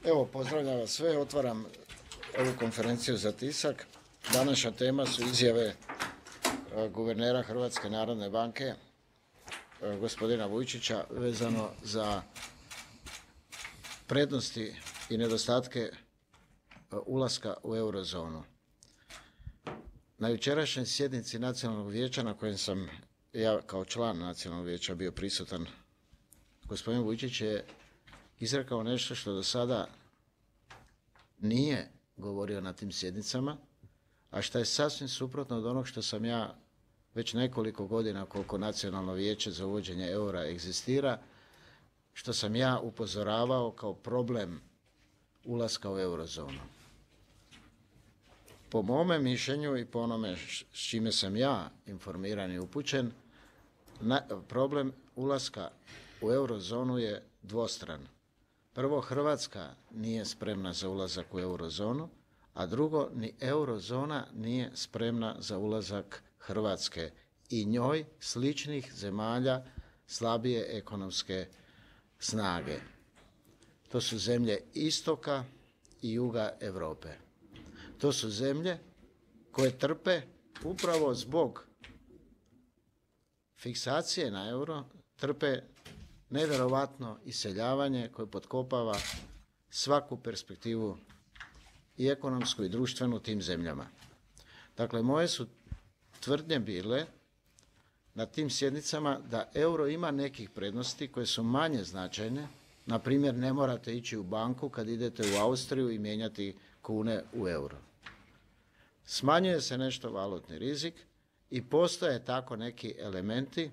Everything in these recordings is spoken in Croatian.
Evo, pozdravljam vas sve, otvaram ovu konferenciju za tisak. Današnja tema su izjave guvernera Hrvatske narodne banke, gospodina Vujčića, vezano za prednosti i nedostatke ulaska u eurozonu. Na jučerašnjoj sjednici Nacionalnog vijeća, na kojem sam ja kao član Nacionalnog vijeća bio prisutan, gospodin Vujčić je izrekao nešto što do sada nije govorio na tim sjednicama, a što je sasvim suprotno od onog što sam ja već nekoliko godina, koliko Nacionalno vijeće za uvođenje eura egzistira, što sam ja upozoravao kao problem ulaska u eurozonu. Po mome mišljenju i po onome s čime sam ja informiran i upućen, problem ulaska u eurozonu je dvostran. Prvo, Hrvatska nije spremna za ulazak u eurozonu, a drugo, ni eurozona nije spremna za ulazak Hrvatske i njoj sličnih zemalja slabije ekonomske snage. To su zemlje istoka i juga Europe. To su zemlje koje trpe upravo zbog fiksacije na euro, trpe nevjerovatno iseljavanje koje potkopava svaku perspektivu i ekonomsku i društvenu tim zemljama. Dakle, moje su tvrdnje bile na tim sjednicama da euro ima nekih prednosti koje su manje značajne. Na primjer, ne morate ići u banku kad idete u Austriju i mijenjati kune u euro. Smanjuje se nešto valutni rizik i postoje tako neki elementi,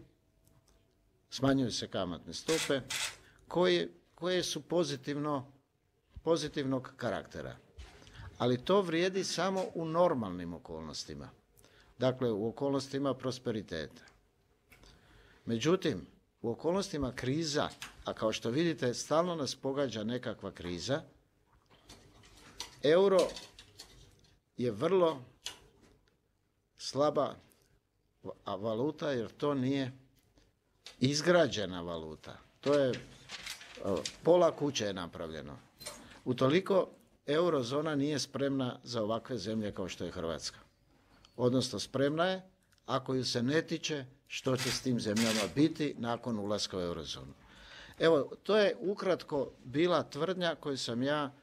smanjuju se kamatne stope koje su pozitivnog karaktera. Ali to vrijedi samo u normalnim okolnostima. Dakle, u okolnostima prosperiteta. Međutim, u okolnostima kriza, a kao što vidite, stalno nas pogađa nekakva kriza, euro je vrlo slaba valuta jer to nije izgrađena valuta. To je pola kuće je napravljeno. Utoliko eurozona nije spremna za ovakve zemlje kao što je Hrvatska. Odnosno spremna je ako ju se ne tiče što će s tim zemljama biti nakon ulaska u eurozonu. Evo, to je ukratko bila tvrdnja koju sam ja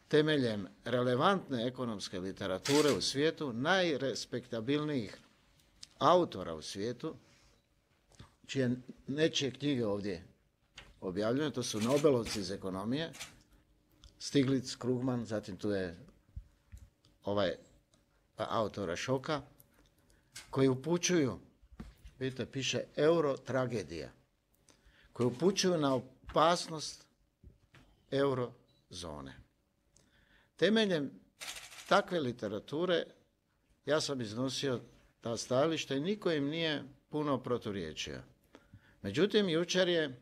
temeljem relevantne ekonomske literature u svijetu, najrespektabilnijih autora u svijetu, čije nečije knjige ovdje objavljene, to su Nobelovci iz ekonomije, Stiglitz, Krugman, zatim tu je ovaj autora Šoka, koji upućuju, vidite, piše euro-tragedija, koji upućuju na opasnost eurozone. Temeljem takve literature ja sam iznosio ta stajališta i niko im nije puno proturječio. Međutim, jučer je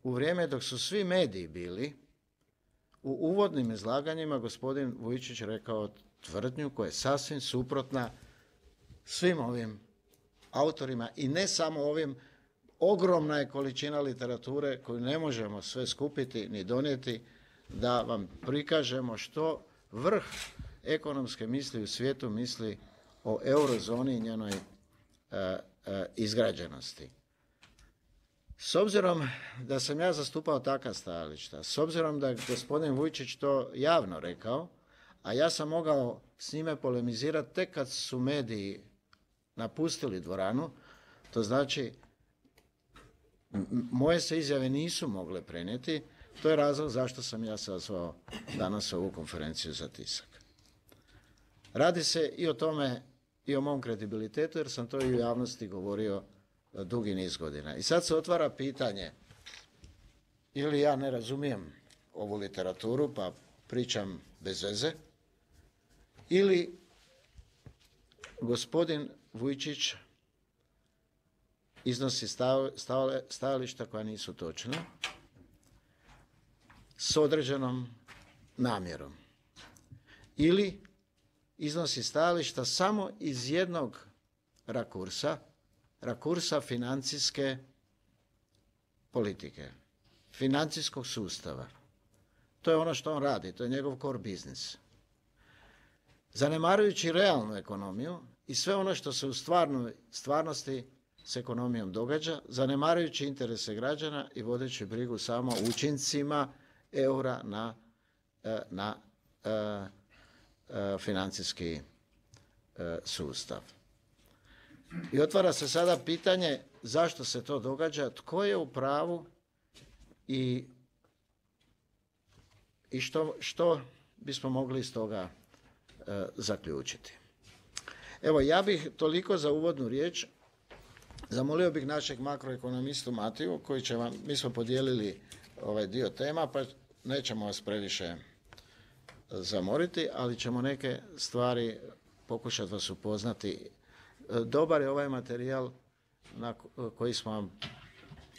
u vrijeme dok su svi mediji bili, u uvodnim izlaganjima gospodin Vujčić rekao tvrdnju koja je sasvim suprotna svim ovim autorima i ne samo ovim. Ogromna je količina literature koju ne možemo sve skupiti ni donijeti da vam prikažemo što vrh ekonomske misli u svijetu misli o eurozoni i njenoj izgrađenosti. S obzirom da sam ja zastupao takva stajališta, s obzirom da je gospodin Vujčić to javno rekao, a ja sam mogao s njime polemizirati tek kad su mediji napustili dvoranu, to znači moje se izjave nisu mogle prenijeti, to je razlog zašto sam ja sazvao danas ovu konferenciju za tisak. Radi se i o tome i o mom kredibilitetu, jer sam to i u javnosti govorio dugi niz godina. I sad se otvara pitanje, ili ja ne razumijem ovu literaturu pa pričam bez veze, ili gospodin Vujčić iznosi stajališta koja nisu točna s određenom namjerom. Ili iznosi stajališta samo iz jednog rakursa financijske politike, financijskog sustava. To je ono što on radi, to je njegov core business. Zanemarujući realnu ekonomiju i sve ono što se u stvarnosti s ekonomijom događa, zanemarujući interese građana i vodeći brigu samo o učincima eura na financijski sustav. I otvara se sada pitanje zašto se to događa, tko je u pravu i što bismo mogli iz toga zaključiti. Evo, ja bih toliko za uvodnu riječ. Zamolio bih našeg makroekonomistu Matiju, koji će vam, mi smo podijelili ovaj dio tema, pa nećemo vas previše zamoriti, ali ćemo neke stvari pokušati vas upoznati. Dobar je ovaj materijal koji smo vam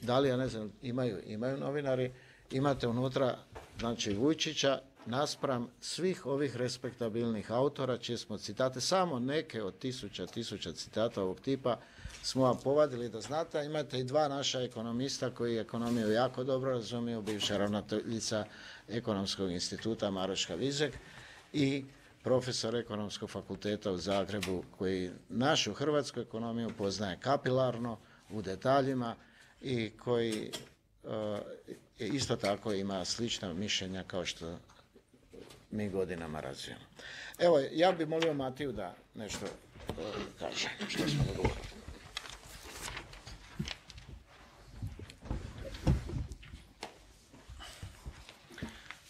dali, ja ne znam, imaju novinari, imate unutra, znači, Vujčića, naspram svih ovih respektabilnih autora, čije smo citate, samo neke od tisuća citata ovog tipa smo vam povadili da znate. Imate i dva naša ekonomista koji ekonomiju jako dobro razumiju, bivša ravnateljica Ekonomskog instituta Maroška Vizek i profesor Ekonomskog fakulteta u Zagrebu, koji našu hrvatsku ekonomiju poznaje kapilarno, u detaljima i koji isto tako ima slična mišljenja kao što mi godinama razvijemo. Evo, ja bih molio Matiju da nešto kaže što smo dogovorili.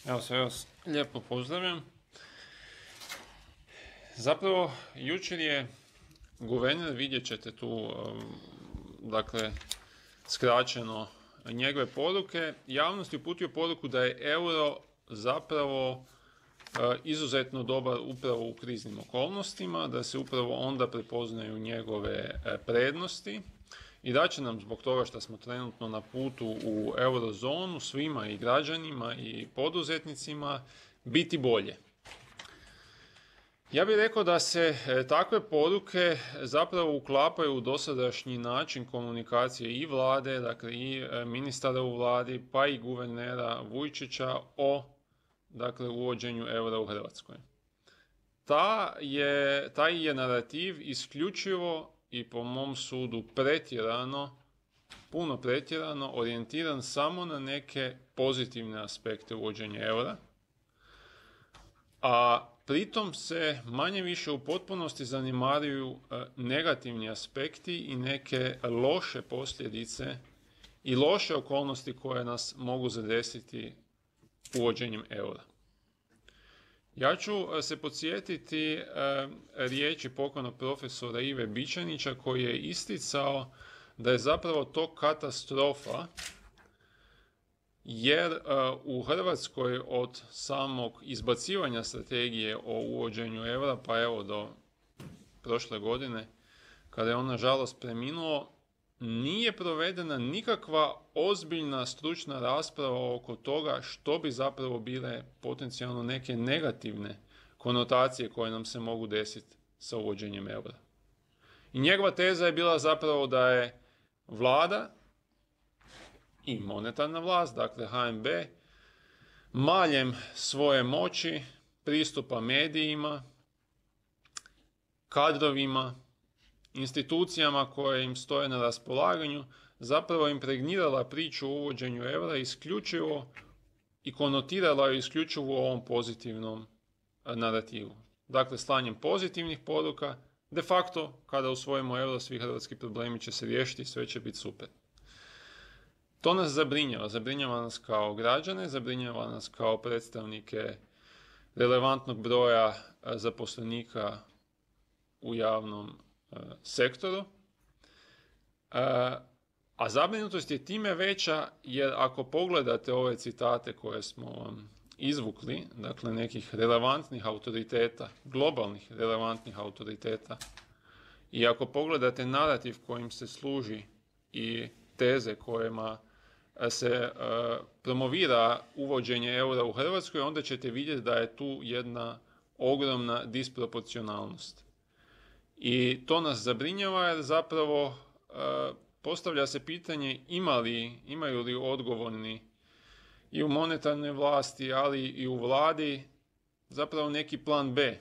Evo, sve vas lijepo pozdravljam. Zapravo, jučer je guverner, vidjet ćete tu, dakle, skraćeno njegove poruke, javnosti uputio poruku da je euro zapravo izuzetno dobar upravo u kriznim okolnostima, da se upravo onda prepoznaju njegove prednosti i da će nam zbog toga što smo trenutno na putu u eurozonu, svima i građanima i poduzetnicima, biti bolje. Ja bih rekao da se takve poruke zapravo uklapaju u dosadašnji način komunikacije i vlade, dakle i ministara u vladi, pa i guvernera Vujčića o, dakle, uvođenju eura u Hrvatskoj. Taj je narativ isključivo i po mom sudu puno pretjerano orijentiran samo na neke pozitivne aspekte uvođenja eura, a pritom se manje-više u potpunosti zanemaruju negativni aspekti i neke loše posljedice i loše okolnosti koje nas mogu zadesiti uvođenjem eura. Ja ću se podsjetiti riječi pokojnog profesora Ive Bičanića, koji je isticao da je zapravo to katastrofa, jer u Hrvatskoj od samog izbacivanja strategije o uvođenju eura, pa evo do prošle godine, kada je on nažalost preminuo, nije provedena nikakva ozbiljna stručna rasprava oko toga što bi zapravo bile potencijalno neke negativne konotacije koje nam se mogu desiti sa uvođenjem eura. I njegova teza je bila zapravo da je vlada i monetarna vlast, dakle HNB, maljem svoje moći, pristupa medijima, kadrovima, institucijama koje im stoje na raspolaganju, zapravo impregnirala priču o uvođenju eura isključivo i konotirala ju isključivo u ovom pozitivnom narativu. Dakle, slanjem pozitivnih poruka, de facto, kada usvojimo euro, svi hrvatski problemi će se riješiti i sve će biti super. To nas zabrinjava. Zabrinjava nas kao građane, zabrinjava nas kao predstavnike relevantnog broja zaposlenika u javnom sektoru. A zabrinutost je time veća jer ako pogledate ove citate koje smo izvukli, dakle nekih relevantnih autoriteta, globalnih relevantnih autoriteta, i ako pogledate narativ kojim se služi i teze kojima se promovira uvođenje eura u Hrvatskoj, onda ćete vidjeti da je tu jedna ogromna disproporcionalnost. I to nas zabrinjava jer zapravo postavlja se pitanje imaju li odgovorni i u monetarnoj vlasti, ali i u vladi zapravo neki plan B.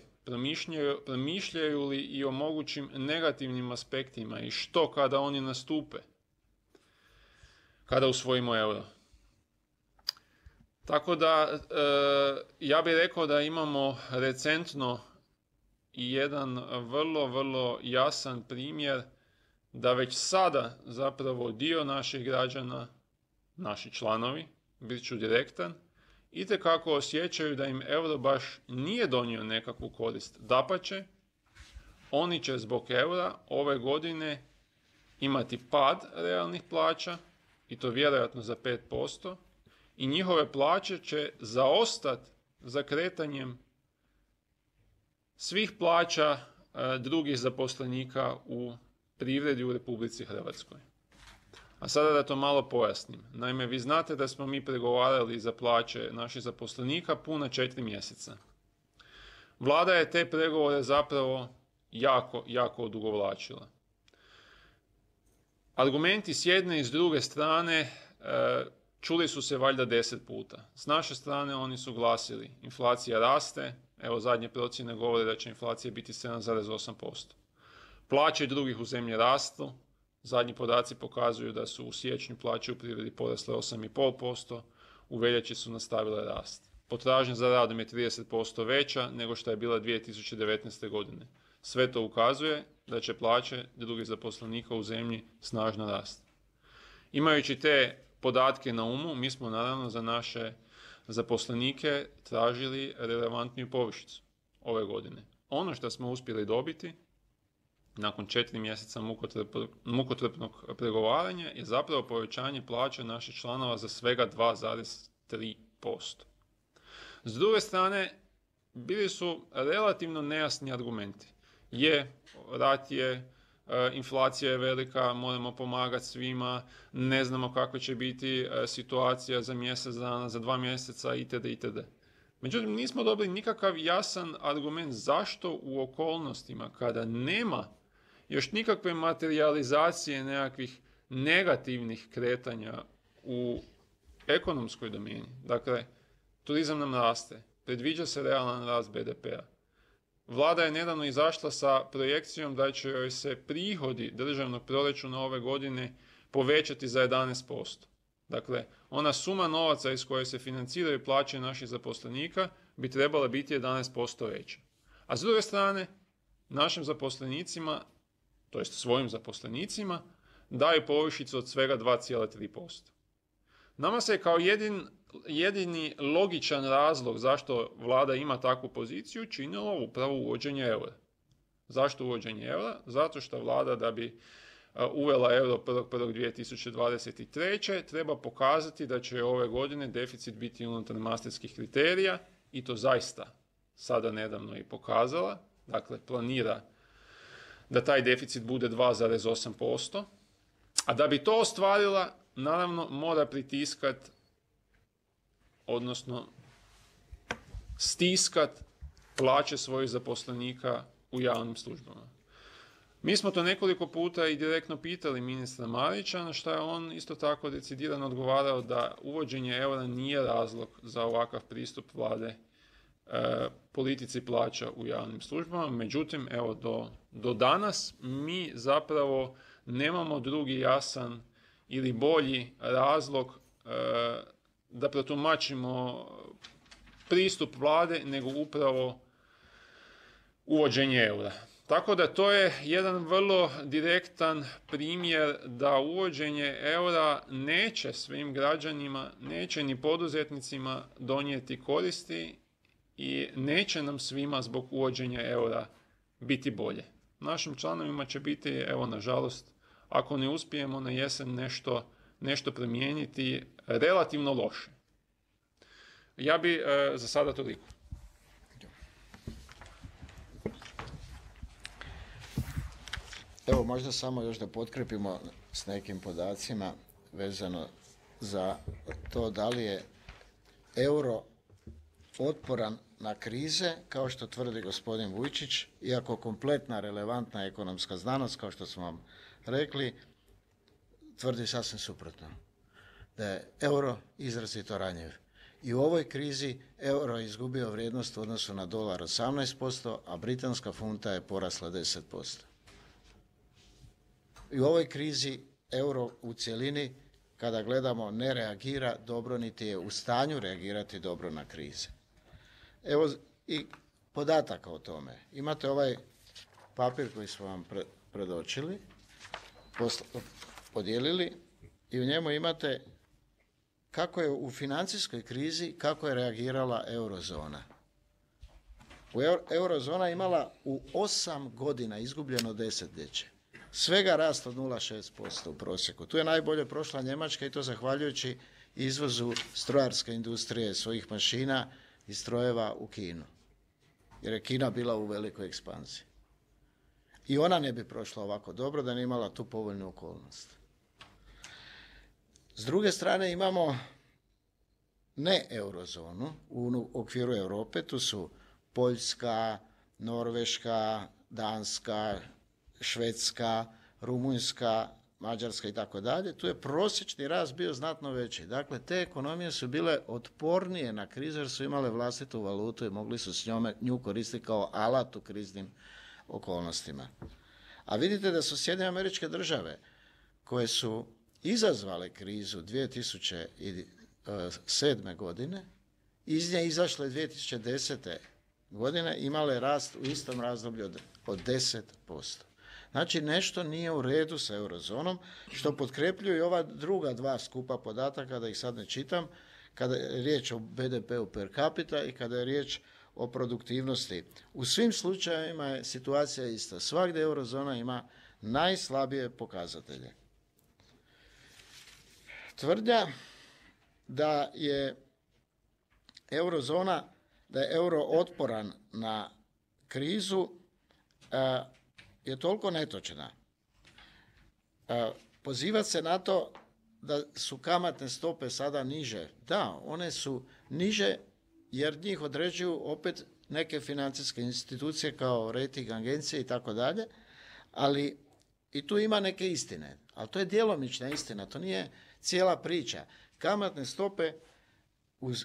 Promišljaju li i o mogućim negativnim aspektima i što kada oni nastupe, kada usvojimo euro. Tako da, ja bih rekao da imamo recentno i jedan vrlo, vrlo jasan primjer da već sada zapravo dio naših građana, naši članovi, bit ću direktan, itekako osjećaju da im euro baš nije donio nekakvu korist. Dapače, oni će zbog eura ove godine imati pad realnih plaća, i to vjerojatno za 5%, i njihove plaće će zaostati za kretanjem svih plaća drugih zaposlenika u privredi u Republici Hrvatskoj. A sada da to malo pojasnim. Naime, vi znate da smo mi pregovarali za plaće naših zaposlenika puna 4 mjeseca. Vlada je te pregovore zapravo jako odugovlačila. Argumenti s jedne i s druge strane čuli su se valjda 10 puta. S naše strane oni su glasili, inflacija raste, evo zadnje procjene govore da će inflacija biti 7,8%. Plaće drugih u zemlji rastu, zadnji podaci pokazuju da su u siječnju plaće u privredi porasle 8,5%, u veljači su nastavile rast. Potražnja za radom je 30% veća nego što je bila 2019. godine. Sve to ukazuje da će plaće drugih zaposlenika u zemlji snažno rasti. Imajući te podatke na umu, mi smo naravno za naše zaposlenike tražili relevantniju povišicu ove godine. Ono što smo uspjeli dobiti nakon 4 mjeseca mukotrpnog pregovaranja je zapravo povećanje plaća naših članova za svega 2,3%. S druge strane, bili su relativno nejasni argumenti. Rat je, inflacija je velika, moramo pomagati svima, ne znamo kakva će biti situacija za mjesec dana, za 2 mjeseca itd. itd. Međutim, nismo dobili nikakav jasan argument zašto u okolnostima kada nema još nikakve materijalizacije nekakvih negativnih kretanja u ekonomskoj domeni. Dakle, turizam nam raste, predviđa se realan rast BDP-a. Vlada je nedavno izašla sa projekcijom da će joj se prihodi državnog proračuna ove godine povećati za 11%. Dakle, ona suma novaca iz koje se financiraju plaće naših zaposlenika bi trebala biti 11% veća. A s druge strane, našim zaposlenicima, to jest svojim zaposlenicima, daju povišicu od svega 2,3%. Nama se kao jedini logičan razlog zašto vlada ima takvu poziciju činilo upravo uvođenje eura. Zašto uvođenje eura? Zato što vlada da bi uvela euro 1.1.2023. treba pokazati da će ove godine deficit biti unutar mastrihtskih kriterija i to zaista sada nedavno i pokazala. Dakle, planira da taj deficit bude 2,8%. A da bi to ostvarila, naravno, mora pritiskat, odnosno stiskat plaće svojih zaposlenika u javnim službama. Mi smo to nekoliko puta i direktno pitali ministra Marića, na što je on isto tako decidirano odgovarao da uvođenje eura nije razlog za ovakav pristup vlade politici plaća u javnim službama. Međutim, evo do danas mi zapravo nemamo drugi jasan ili bolji razlog da protumačimo pristup vlade nego upravo uvođenje eura. Tako da to je jedan vrlo direktan primjer da uvođenje eura neće svim građanima, neće ni poduzetnicima donijeti koristi i neće nam svima zbog uvođenja eura biti bolje. Našim članovima će biti, evo nažalost, ako ne uspijemo na jesen nešto promijeniti, relativno loše. Ja bi za sada toliko. Evo možda samo još da potkrepimo s nekim podacima vezano za to da li je euro otporan na krize, kao što tvrdi gospodin Vujčić, iako kompletna relevantna ekonomska znanost, kao što smo vam rekli, tvrdi sasvim suprotno. Da je euro izrazito ranjiv. I u ovoj krizi euro je izgubio vrijednost u odnosu na dolar 18%, a britanska funta je porasla 10%. I u ovoj krizi euro u cjelini, kada gledamo, ne reagira dobro, niti je u stanju reagirati dobro na krize. Evo i podataka o tome. Imate ovaj papir koji smo vam predočili, podijelili, i u njemu imate kako je u financijskoj krizi, kako je reagirala eurozona. Eurozona imala u 8 godina izgubljeno desetljeće. Svega rast od 0,6% u prosjeku. Tu je najbolje prošla Njemačka i to zahvaljujući izvozu strojarske industrije, svojih mašina i strojeva u Kinu. Jer je Kina bila u velikoj ekspanziji. I ona ne bi prošla ovako dobro da nije imala tu povoljnu okolnost. S druge strane imamo ne eurozonu u okviru Europe, tu su Poljska, Norveška, Danska, Švedska, Rumunjska, Mađarska i tako dalje. Tu je prosječni rast bio znatno veći. Dakle, te ekonomije su bile otpornije na krizu jer su imale vlastitu valutu i mogli su s nju koristiti kao alat u kriznim okolnostima. A vidite da su Sjedinjene Američke Države, koje su izazvale krizu 2007. godine, iz nje izašle 2010. godine, imale rast u istom razdoblju od 10%. Znači, nešto nije u redu sa eurozonom, što potkrepljuju i ova druga dva skupa podataka, da ih sad ne čitam, kada je riječ o BDP-u per capita i kada je riječ o produktivnosti. U svim slučajevima je situacija ista. Svagdje eurozona ima najslabije pokazatelje. Tvrdnja da je eurozona, da je euro otporan na krizu, je toliko netočna. Pozivati se na to da su kamatne stope sada niže. Da, one su niže jer njih određuju opet neke financijske institucije kao rating agencije i tako dalje, ali i tu ima neke istine. Ali to je djelomična istina, to nije cijela priča. Kamatne stope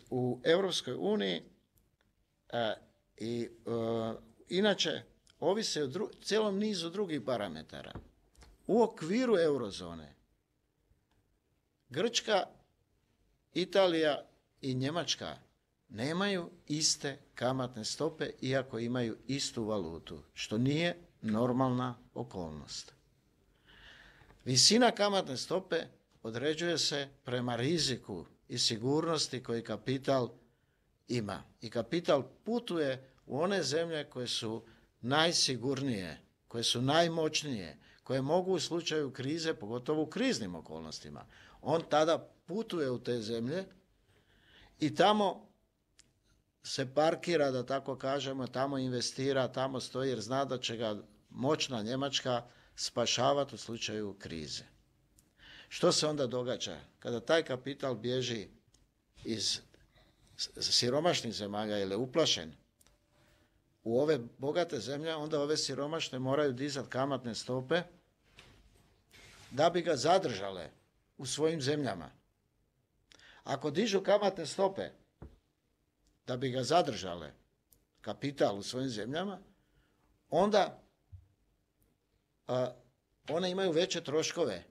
u Europskoj uniji inače ovise o cijelom nizu drugih parametara. U okviru eurozone Grčka, Italija i Njemačka nemaju iste kamatne stope iako imaju istu valutu, što nije normalna okolnost. Visina kamatne stope određuje se prema riziku i sigurnosti koji kapital ima. I kapital putuje u one zemlje koje su najsigurnije, koje su najmoćnije, koje mogu u slučaju krize, pogotovo u kriznim okolnostima. On tada putuje u te zemlje i tamo se parkira, da tako kažemo, tamo investira, tamo stoji jer zna da će ga moćna Njemačka spašavati u slučaju krize. Što se onda događa? Kada taj kapital bježi iz siromašnih zemalja ili je uplašen u ove bogate zemlje, onda ove siromašne moraju dizati kamatne stope da bi ga zadržale u svojim zemljama. Ako dižu kamatne stope da bi ga zadržale kapital u svojim zemljama, onda one imaju veće troškove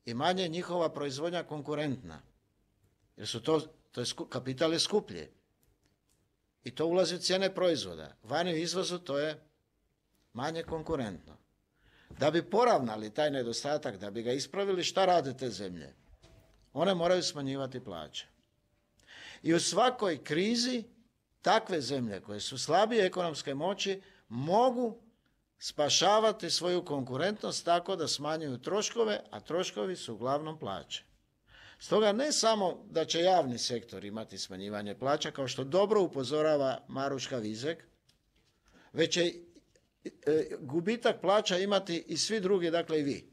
i manje je njihova proizvodnja konkurentna. Jer su kapital je skuplji. I to ulazi u cijene proizvoda. Vani u izvozu to je manje konkurentno. Da bi poravnali taj nedostatak, da bi ga ispravili, šta rade te zemlje? One moraju smanjivati plaće. I u svakoj krizi takve zemlje koje su slabije ekonomske moći mogu spašavati svoju konkurentnost tako da smanjuju troškove, a troškovi su uglavnom plaće. Stoga ne samo da će javni sektor imati smanjivanje plaća, kao što dobro upozorava Maruška Vizek, već će gubitak plaća imati i svi drugi, dakle i vi.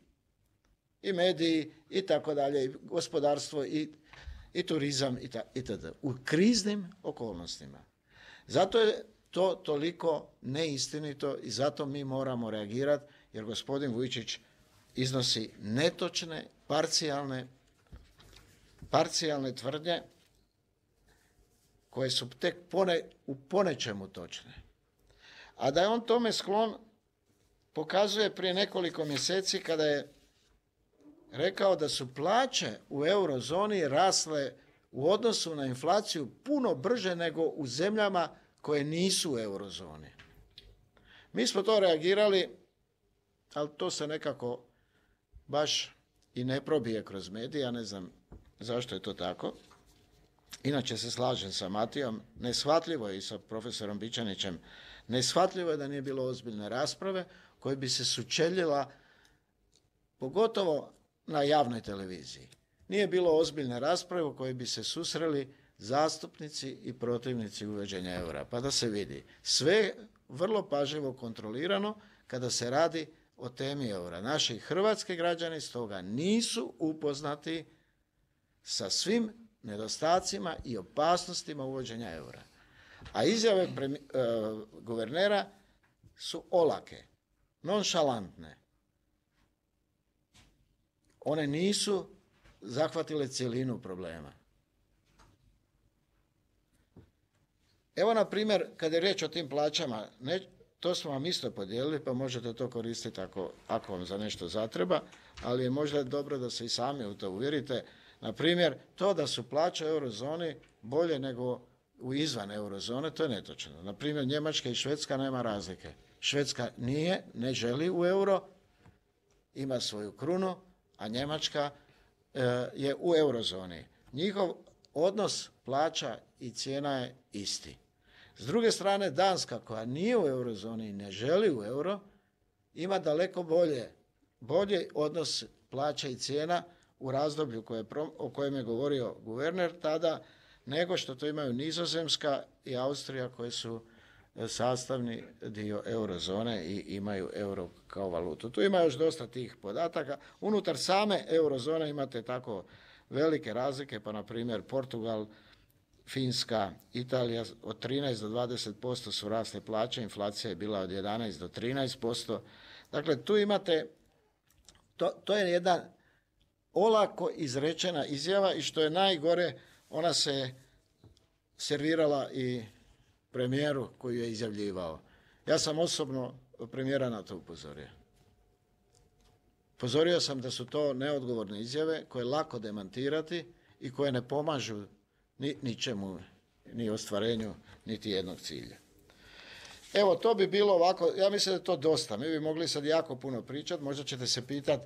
I mediji, i tako dalje, i gospodarstvo, i turizam, itd. U kriznim okolnostima. Zato je to toliko neistinito i zato mi moramo reagirati, jer gospodin Vujčić iznosi netočne, parcijalne tvrdnje koje su tek u ponečemu točne. A da je on tome sklon pokazuje prije nekoliko mjeseci kada je rekao da su plaće u eurozoni rasle u odnosu na inflaciju puno brže nego u zemljama koje nisu u eurozoni. Mi smo to reagirali, ali to se nekako baš i ne probije kroz medije, ja ne znam zašto je to tako. Inače se slažem sa Matijom, neshvatljivo je i sa profesorom Bičanićem, neshvatljivo je da nije bilo ozbiljne rasprave koje bi se sučeljila, pogotovo na javnoj televiziji. Nije bilo ozbiljne rasprave u kojoj bi se susreli zastupnici i protivnici uvođenja eura, pa da se vidi. Sve vrlo pažljivo kontrolirano kada se radi o temi eura. Naši hrvatski građani stoga nisu upoznati sa svim nedostacima i opasnostima uvođenja eura. A izjave guvernera su olake, nonšalantne. One nisu zahvatile cjelinu problema. Evo, na primjer, kada je riječ o tim plaćama, to smo vam isto podijelili, pa možete to koristiti ako vam za nešto zatreba, ali je možda dobro da se i sami u to uvjerite. Na primjer, to da su plaće u eurozoni bolje nego u izvan eurozone, to je netočno. Na primjer, Njemačka i Švedska nema razlike. Švedska ne želi u euro, ima svoju krunu, a Njemačka je u eurozoni. Njihov odnos plaća i cijena je isti. S druge strane, Danska, koja nije u eurozoni i ne želi u euro, ima daleko bolji odnos plaća i cijena u razdoblju o kojem je govorio guverner tada, nego što to imaju Nizozemska i Austrija, koje su sastavni dio eurozone i imaju euro kao valutu. Tu ima još dosta tih podataka. Unutar same eurozone imate tako velike razlike, pa na primjer Portugal, Finska, Italija od 13 do 20% su rasle plaće, inflacija je bila od 11 do 13%. Dakle, tu imate, to je jedna olako izrečena izjava i što je najgore, ona se servirala i premijeru koji je izjavljivao. Ja sam osobno premijera na to upozorio. Upozorio sam da su to neodgovorne izjave koje je lako demantirati i koje ne pomažu ničemu, ni ostvarenju niti jednog cilja. Evo, to bi bilo ovako, ja mislim da je to dosta. Mi bi mogli sad jako puno pričati, možda ćete se pitati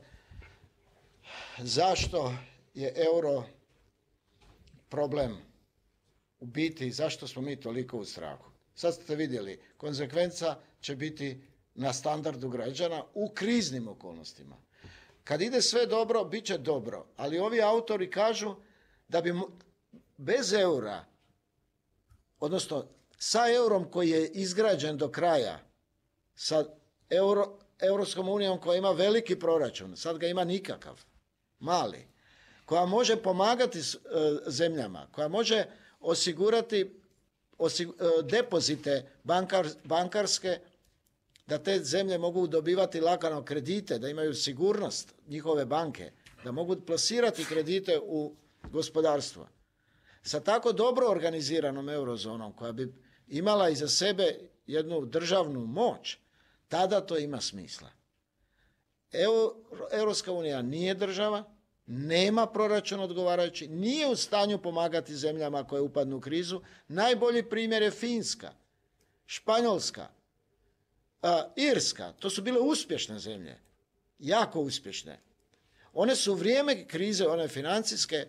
zašto je euro problem u biti, zašto smo mi toliko u strahu. Sad ste vidjeli, konsekvenca će biti na standardu građana u kriznim okolnostima. Kad ide sve dobro, bit će dobro, ali ovi autori kažu da bi bez eura, odnosno sa eurom koji je izgrađen do kraja, sa Europskom unijom koja ima veliki proračun, sad ga ima nikakav, mali, koja može pomagati zemljama, koja može osigurati depozite bankarske, da te zemlje mogu dobivati lagano kredite, da imaju sigurnost njihove banke, da mogu plasirati kredite u gospodarstvo. Sa tako dobro organiziranom eurozonom koja bi imala iza sebe jednu državnu moć, tada to ima smisla. Europska unija nije država, nema proračun odgovarajući, nije u stanju pomagati zemljama koje upadnu u krizu. Najbolji primjer je Finska, Španjolska, Irska. To su bile uspješne zemlje, jako uspješne. One su u vrijeme krize, one financijske,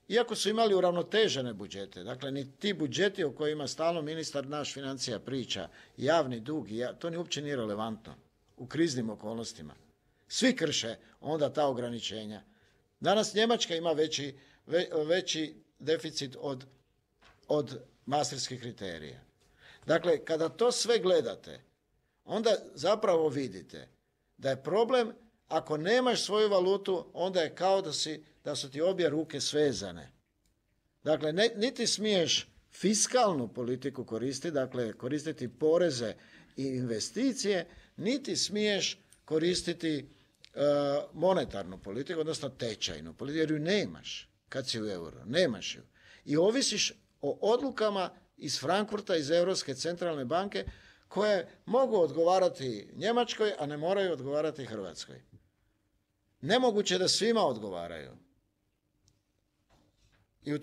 iako su imali uravnotežene budžete, dakle ni ti budžeti o kojima stalno ministar naš financija priča, javni dug, to ni uopće nije relevantno u kriznim okolnostima. Svi krše onda ta ograničenja. Danas Njemačka ima veći deficit od maastrichtskih kriterija. Dakle, kada to sve gledate, onda zapravo vidite da je problem, ako nemaš svoju valutu, onda je kao da su ti obje ruke svezane. Dakle, niti smiješ fiskalnu politiku koristiti, dakle koristiti poreze i investicije, niti smiješ koristiti monetarnu politiku, odnosno tečajnu politiku, jer ju nemaš kad si u euro, nemaš ju. I ovisiš o odlukama iz Frankfurta, iz Europske centralne banke, koje mogu odgovarati Njemačkoj, a ne moraju odgovarati Hrvatskoj. Nemoguće da svima odgovaraju. I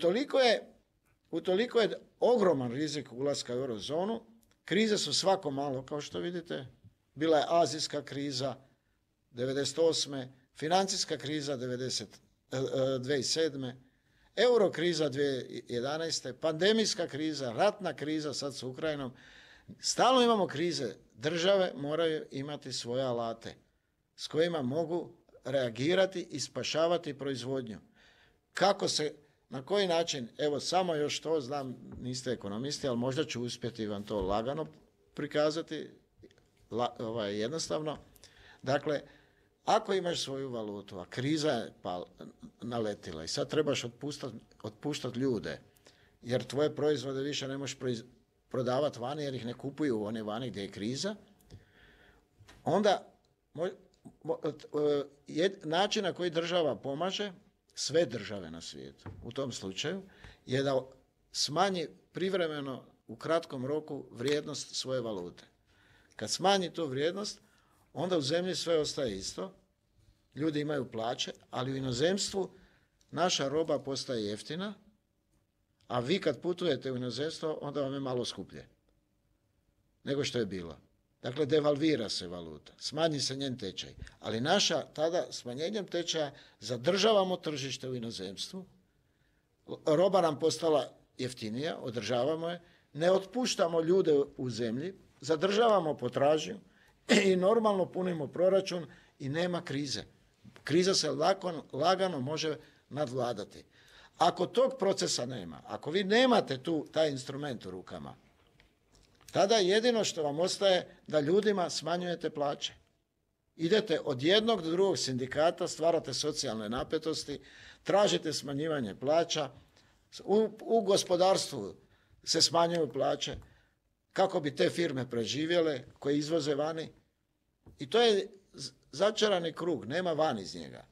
utoliko je ogroman rizik ulaska u eurozonu. Krize su svako malo, kao što vidite. Bila je azijska kriza 1998. Financijska kriza 2007. Eurokriza 2011. Pandemijska kriza, ratna kriza sad s Ukrajinom. Stalno imamo krize. Države moraju imati svoje alate s kojima mogu reagirati i spašavati proizvodnju. Na koji način, evo samo još to, znam, niste ekonomisti, ali možda ću uspjeti vam to lagano prikazati, jednostavno. Dakle, ako imaš svoju valutu, a kriza je naletila i sad trebaš otpuštati ljude, jer tvoje proizvode više ne možeš prodavati vani, jer ih ne kupuju oni vani gdje je kriza, onda način na koji država pomaže, sve države na svijetu u tom slučaju, je da smanji privremeno u kratkom roku vrijednost svoje valute. Kad smanji tu vrijednost, onda u zemlji sve ostaje isto, ljudi imaju plaće, ali u inozemstvu naša roba postaje jeftina, a vi kad putujete u inozemstvo, onda vam je malo skuplje nego što je bilo. Dakle, devalvira se valuta, smanji se njen tečaj. Ali naša tada smanjenjem tečaja zadržavamo tržište u inozemstvu, roba nam postala jeftinija, održavamo je, ne otpuštamo ljude u zemlji, zadržavamo potražnju i normalno punimo proračun i nema krize. Kriza se lagano može nadvladati. Ako tog procesa nema, ako vi nemate taj instrument u rukama, tada jedino što vam ostaje da ljudima smanjujete plaće. Idete od jednog do drugog sindikata, stvarate socijalne napetosti, tražite smanjivanje plaća, u gospodarstvu se smanjuju plaće kako bi te firme preživjele koje izvoze vani. I to je začarani krug, nema van iz njega.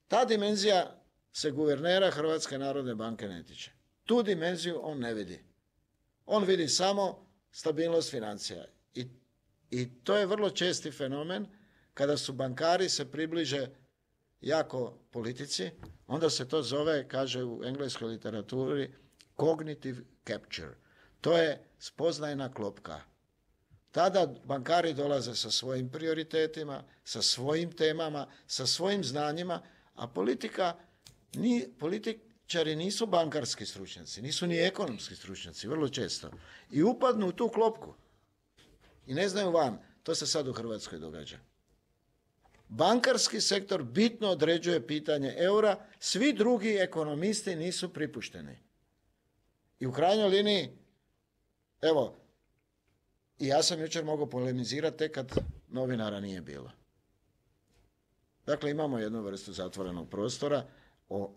Ta dimenzija se guvernera Hrvatske narodne banke ne tiče. Tu dimenziju on ne vidi. On vidi samo stabilnost financija. I to je vrlo česti fenomen kada su bankari se približe jako politici, onda se to zove, kaže u engleskoj literaturi, cognitive capture. To je spoznajna klopka. Tada bankari dolaze sa svojim prioritetima, sa svojim temama, sa svojim znanjima, a političari nisu bankarski stručnjaci, nisu ni ekonomski stručnjaci, vrlo često. I upadnu u tu klopku i ne znaju van. To se sad u Hrvatskoj događa. Bankarski sektor bitno određuje pitanje eura, svi drugi ekonomisti nisu pripušteni. I u krajnjoj liniji, evo, i ja sam jučer mogao polemizirati tek kad novinara nije bilo. Dakle, imamo jednu vrstu zatvorenog prostora o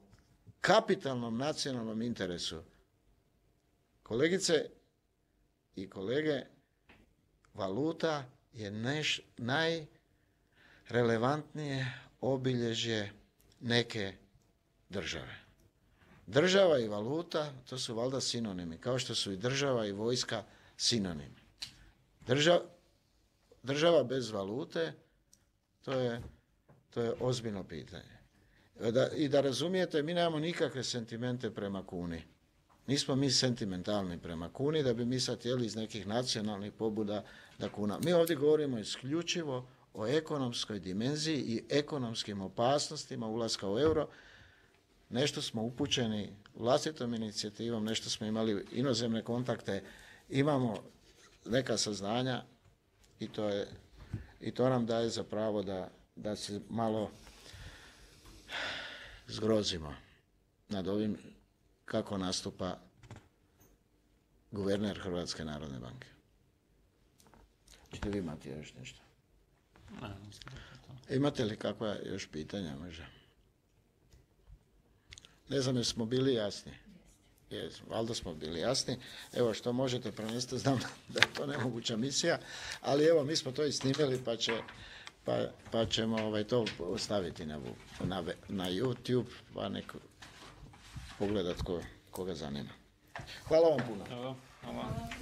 kapitalnom nacionalnom interesu. Kolegice i kolege, valuta je najrelevantnije obilježje neke države. Država i valuta, to su valjda sinonimi, kao što su i država i vojska sinonimi. Država bez valute, to je ozbiljno pitanje. I da razumijete, mi nemamo nikakve sentimente prema kuni. Nismo mi sentimentalni prema kuni, da bi mi sad htjeli iz nekih nacionalnih pobuda da kuna. Mi ovdje govorimo isključivo o ekonomskoj dimenziji i ekonomskim opasnostima ulaska u euro. Nešto smo upućeni vlastitom inicijativom, nešto smo imali inozemne kontakte, imamo neka saznanja i to nam daje za pravo da se malo zgrozimo nad ovim kako nastupa guverner Hrvatske narodne banke. Čete vi imati još nešto? Imate li kakva još pitanja možda? Ne znam, jesmo bili jasni? Valjda smo bili jasni. Evo, što možete prenesti, znam da je to nemoguća misija, ali evo, mi smo to i snimili, pa ćemo to ostaviti na YouTube, pa neko pogledat koga zanima. Hvala vam puno. Hvala.